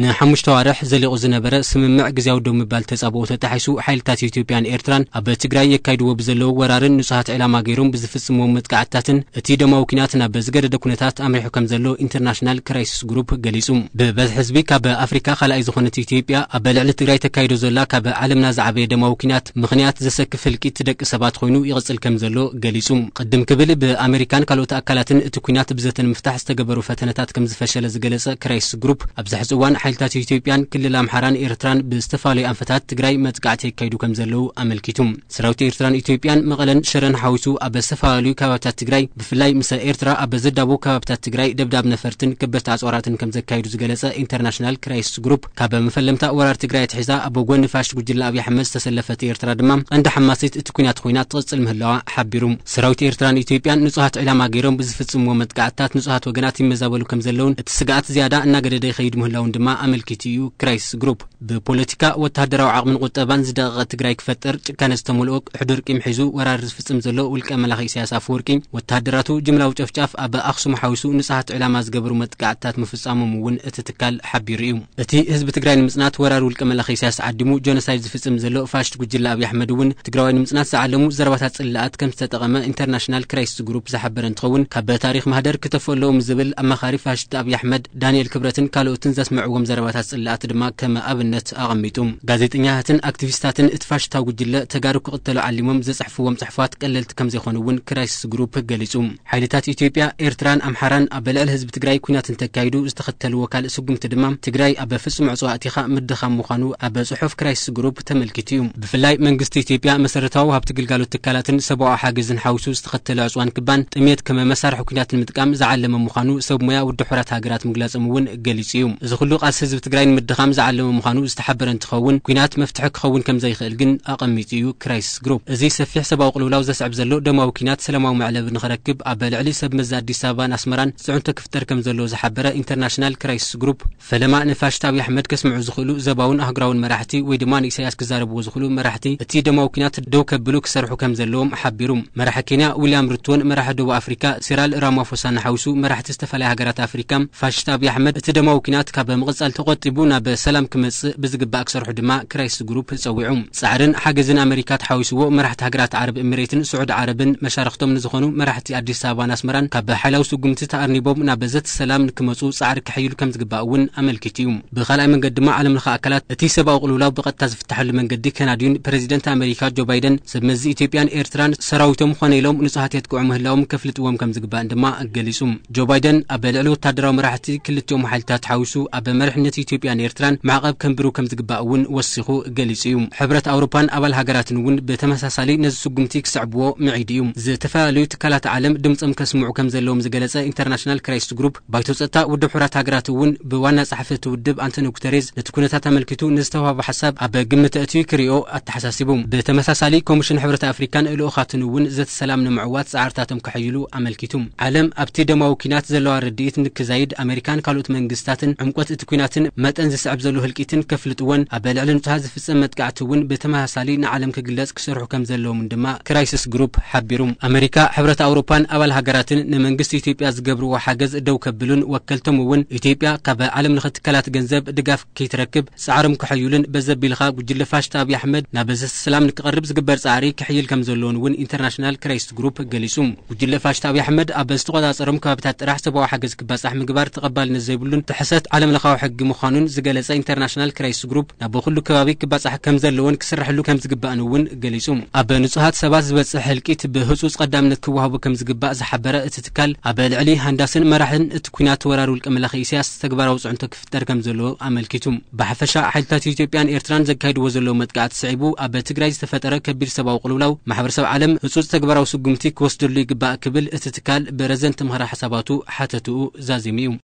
ንሓሙሽተ ኣዋርሕ ዘሊቑ ዝነበረ ስምምዕ ግዜያዊ ደው ምባል ተጻብኦ ተጣሒሱ፣ ሓይልታት ኢትዮጵያን ኤርትራን ኣብ ትግራይ የካይድዎ ብዘለዉ ወራርን ንጹሃት ዕላማ ገይሮም ብዝፍጽምዎም መጥቃዕትታትን እቲ ደማዊ ኲናት ናብ ዝገደደ ኩነታት ኣምሪሑ ከም ዘሎ ኢንተርናሽናል ክራይሲስ ግሩፕ ገሊጹ። ብበዝሒ ህዝቢ ካብ ኣፍሪካ ካልኣይ ዝኾነት ኢትዮጵያ፣ ኣብ ልዕሊ ትግራይ ተካይዶ ዘላ ካብ ዓለምና ዝዓበየ ደማዊ ኲናት ምኽንያት ዘሰክፍ ህልቂት ደቂ ሰባት ኮይኑ ይቕጽል ከም ዘሎ ገሊጹ። ቅድም ክብል ብኣሜሪካን ካልኦት ኣካላትን እቲ ኲናት ብዘተ ንምፍታሕ ዝተገበሩ ፈተነታት ከም ዝፈሸለ ዝገለጸ ክራይሲስ ግሩፕ፣ ኣብዚ ሕዚ እዋን ሓይልታት ኢትዮጵያን ክልል ኣምሓራን ኤርትራን ብዝተፈላለዩ ኣንፈታት ትግራይ መጥቃዕቲ የካይዱ ከም ዘለዉ ኣመልኪቱ። ሰራዊት ኤርትራን ኢትዮጵያን መቐለን ሽረን ሓዊሱ ኣብ ዝተፈላለዩ ከባቢታት ትግራይ፣ ብፍላይ ምስ ኤርትራ ኣብ ዘዳቡ ከባቢታት ትግራይ ደብዳብ ነፈርትን ከበድቲ ኣጽዋራትን ከም ዘካይዱ ዝገለጸ ኢንተርናሽናል ክራይሲስ ግሩፕ፣ ካብ መፈለምታ ወራር ትግራይ ኣትሒዛ ኣብ ጎኒ ፋሽስት ጉጅለ ኣብይ ኣሕመድ ዝተሰለፈት ኤርትራ ድማ ቀንዲ ሓማሲት እቲ ኲናት ኮይና ትቕጽል ምህላዋ ሓቢሩ። ሰራዊት ኤርትራን ኢትዮጵያን ንጹሃት ዕላማ ገይሮም ብዝፍጽምዎ መጥቃዕትታት ንጹሃት ወገናት ይመዛበሉ ከም ዘለውን እቲ ስግኣት ዝያዳ እናገደደ ይኸይድ ምህላውን ድማ ኣመልኪቱ እዩ ክራይሲስ ግሩፕ። ብፖለቲካ፣ ወተሃደራዊ ዓቕምን ቁጠባን ዝደቐቐት ትግራይ ክፈጥር ጭካነ ዝተመልኦ ሕዱር ቂም ሒዙ ወራር ዝፍጽም ዘሎ ውልቀ መላኺ ኢሳያስ ኣፈወርቂ፣ ወተሃደራቱ ጅምላዊ ጨፍጫፍ ኣብ ኣኽሱም ሓዊሱ ንጹሃት ዕላማ ዝገበሩ መጥቃዕትታት ምፍጻሞም እውን እቲ ትካል ሓቢሩ እዩ። እቲ ህዝቢ ትግራይ ንምጽናት ወራር ውልቀ መላኺ ኢሳያስ ዓዲሙ ጀኖሳይድ ዝፍጽም ዘሎ ፋሽስት ጉጅለ ኣብይ ኣሕመድ እውን ትግራዋይ ንምጽናት ዝዓለሙ ዘረባታት ጽላኣት ከም ዝተጠቐመ ኢንተርናሽናል ክራይሲስ ግሩፕ ዝሓበረ እንትኸውን፣ ካብ ታሪኽ ማህደር ክተፈለዎም ዝብል ኣማኻሪ ፋሽስት ኣብይ ኣሕመድ ዳንኤል ክብረትን ካልኦትን ዘስምዕዎም ዘረባታት ጽላኣት ድማ ከም ኣብነት ኣቐሚጡ። ጋዜጠኛታትን ኣክቲቪስታትን እቲ ፋሽስታዊ ጉጅለ ተጋሩ ክቕተሉ ዓሊሞም ዘጽሕፍዎም ጽሑፋት ቀለልቲ ከም ዘይኮኑ እውን ክራይሲስ ግሩፕ ገሊጹ። ሓይልታት ኢትዮጵያ፣ ኤርትራን ኣምሓራን ኣብ ልዕሊ ህዝቢ ትግራይ ኲናት እንተካይዱ ዝተኸተልዎ ካልእ ስጉምቲ ድማ ትግራይ ኣብ ፍጹም ዕጽዋ ኣቲኻ ምድኻም ምዃኑ ኣብ ጽሑፍ ክራይሲስ ግሩፕ ተመልኪቱ እዩ። ብፍላይ መንግስቲ ኢትዮጵያ መሰረታዊ ሃብቲ ግልጋሎት ትካላትን ሰብኣዊ ሓገዝን ሓዊሱ ዝተኸተለ ዕጽዋን ክባን ጥሜት ከም መሳርሒ ኲናት ንምጥቃም ዝዓለመ ምዃኑ ሰብ ሞያ ውድብ ሕቡራት ሃገራት ምግላጾም እውን ገሊጹ እዩ። እዚ ኩሉ ቃልሲ ህዝቢ ትግራይ ንምድኻም ዝዓለመ ምዃኑ ዝተሓበረ እንትኸውን፣ ኲናት መፍትሒ ክኸውን ከም ዘይኽእል ግን ኣቐሚጡ እዩ ክራይሲስ ግሩፕ። እዚ ሰፊሕ ሰብኣዊ ቅልውላው ዘስዕብ ዘሎ ደማዊ ኲናት ሰላማዊ መዕለቢ ንኽረክብ ኣብ ልዕሊ ሰብ መዚ ኣዲስ ኣበባን ኣስመራን ጽዕንቶ ክፍጠር ከም ዘለዎ ዝሓበረ ኢንተርናሽናል ክራይሲስ ግሩፕ፣ ፈለማ ንፋሽስት ኣብይ ኣሕመድ ከስምዑ ዝኽእሉ ዘባውን ኣህጉራውን መራሕቲ ወይ ድማ ንኢሳያስ ክዛረብዎ ዝኽእሉ መራሕቲ እቲ ደማዊ ኲናት ደው ከብሉ ክሰርሑ ከም ዘለዎም ሓቢሩ። መራሒ ኬንያ ዊልያም ሩቶን መራሒ ደቡብ ኣፍሪካ ሲራል ራማፎሳን ሓዊሱ መራሕቲ ዝተፈላለያ ሃገራት ኣፍሪካ፣ ፋሽስት ኣብይ ኣሕመድ እቲ ደማዊ ኲናት ካብ ምቕጻል ተቖጢቡ ናብ ሰላም ክመጽእ ብዝግባእ ክሰርሑ ድማ ክራይሲስ ግሩፕ ጸዊዑ። ጻዕርን ሓገዝን ኣመሪካ ተሓዊስዎ መራሕቲ ሃገራት ዓረብ ኤሚሬትን ስዑዲ ዓረብን መሻርኽቶም ንዝኾኑ መራሕቲ ኣዲስ ኣበባን ኣስመራን ካብ ሓይላዊ ስጉምቲ ተኣርኒቦም ናብ ዘተ ሰላም ንክመጹ ጻዕሪ ክሕይሉ ከም ዝግባእ እውን ኣመልኪቱ እዩ። ብኻልኣይ መንገዲ ድማ ዓለም ለኸ ኣካላት እቲ ሰብኣዊ ቅልውላው ብቐጥታ ዝፍታሐሉ መንገዲ ከናድዩን ፕረዚደንት ኣመሪካ ጆ ባይደን ሰብ መዚ ኢትዮጵያን ኤርትራን ሰራዊቶም ኾነ ኢሎም ንጹሃት የጥቅዑ ምህላዎም ከፍልጥዎም ከም ዝግባእን ድማ ገሊጹ። ጆ ባይደን ኣብ ልዕሊ ወታደራዊ መራሕቲ ክልቲኦም ሓይልታት ሓዊሱ ኣብ መሪሕነት ኢትዮጵያን ኤርትራን ማዕቐብ ከንብሩ ከም ዝግባእ እውን ወሲኹ ገሊጹ እዩ። ሕብረት ኣውሮፓን ኣባል ሃገራትን እውን ብተመሳሳሊ ነዚ ስጉምቲ ክስዕብዎ ምዒዱ እዩ። ዝተፈላለዩ ትካላት ዓለም ድምጾም ከስምዑ ከም ዘለዎም ዝገለጸ ኢንተርናሽናል ክራይሲስ ግሩፕ፣ ባይቶ ጸጥታ ውድብ ሕቡራት ሃገራት እውን ብዋና ጸሓፊ እቲ ውድብ ኣንቶኒዮ ጉተሬዝ ነቲ ኩነታት ኣመልኪቱ ንዝተዋህበ ሓሳብ ኣብ ግምት ኣእትዩ ክሪኦ ኣተሓሳሲቡ። ብተመሳሳሊ ኮሚሽን ሕብረት ኣፍሪካን ልኡኻትን እውን ዘተ ሰላም ንምዕዋት ጻዕርታቶም ከሐይሉ ኣመልኪቱ። ዓለም ኣብቲ ደማዊ ኲናት ዘለዋ ርድኢት ንክዛይድ ኣሜሪካን ካልኦት መንግስታትን ዕምቆት እቲ ኲናትን መጠን ዝስዕብ ዘሎ ህልቂትን ከፍልጥዎን ኣብ ልዕሊ ንጹሃት ዝፍጸም መጥቃዕቲ እውን ብተመሳሳሊ ንዓለም ክግለጽ ክሰርሑ ከም ዘለዎም ድማ ክራይሲስ ግሩፕ ሓቢሩ። ኣመሪካ፣ ሕብረት ኣውሮፓን ኣባል ሃገራትን ንመንግስቲ ኢትዮጵያ ዝገብርዎ ሓገዝ ደው ከብሉን ወከልቶም እውን ኢትዮጵያ ካብ ዓለም ለኸ ትካላት ገንዘብ ድጋፍ ከይትረክብ ጻዕሮም ከሐዩሉን በዘቢልኻ ጉጅለ ፋሽስት ኣብይ ኣሕመድ ናብ ዘተ ሰላም ንክቐርብ ዝግበር ጻዕሪ ክሕይል ከም ዘለዎን እውን ኢንተርናሽናል ክራይሲስ ግሩፕ ገሊጹ። ጉጅለ ፋሽስት ኣብይ ኣሕመድ ኣብ ዝተቆጻጸሮም ከባቢታት ጥራሕ ሰብኣዊ ሓገዝ ክባጻሕ ምግባር ተቐባልነት ዘይብሉን ጥሕሰት ዓለም ለኻዊ ሕጊ ምዃኑን ዝገለጸ ኢንተርናሽናል ክራይሲስ ግሩፕ፣ ናብ ኩሉ ከባቢ ክባጻሕ ከም ዘለዎን ክስራሕሉ ከም ዝግባእን እውን ገሊጹ። ኣብ ንጹሃት ሰባት ዝበጽሕ ህልቂት ብህጹጽ ቀዳምነት ክወሃቦ ከም ዝግባእ ዝሓበረ እቲ ትካል፣ ኣብ ልዕሊ ሃንዳስን መራሕን እቲ ኲናት ወራር ውልቀ መላኺ ኢሳያስ ተግባራዊ ጽዕንቶ ክፍጠር ከም ዘለዎ ኣመልኪቱ። ብሓፈሻ ሓይልታት ኢትዮጵያን ኤርትራን ዘካይድዎ ዘለዉ መጥቃዕቲ ስዒቡ ኣብ ትግራይ ዝተፈጠረ ከቢድ ሰብኣዊ ቅልውላው ማሕበረሰብ ዓለም ህጹጽ ተግባራዊ ስጉምቲ ክወስደሉ ይግባእ ክብል እቲ ትካል ብረዘንቲ ምኽረ ሓሳባቱ ሓተትኡ ዛዚሙ እዩ።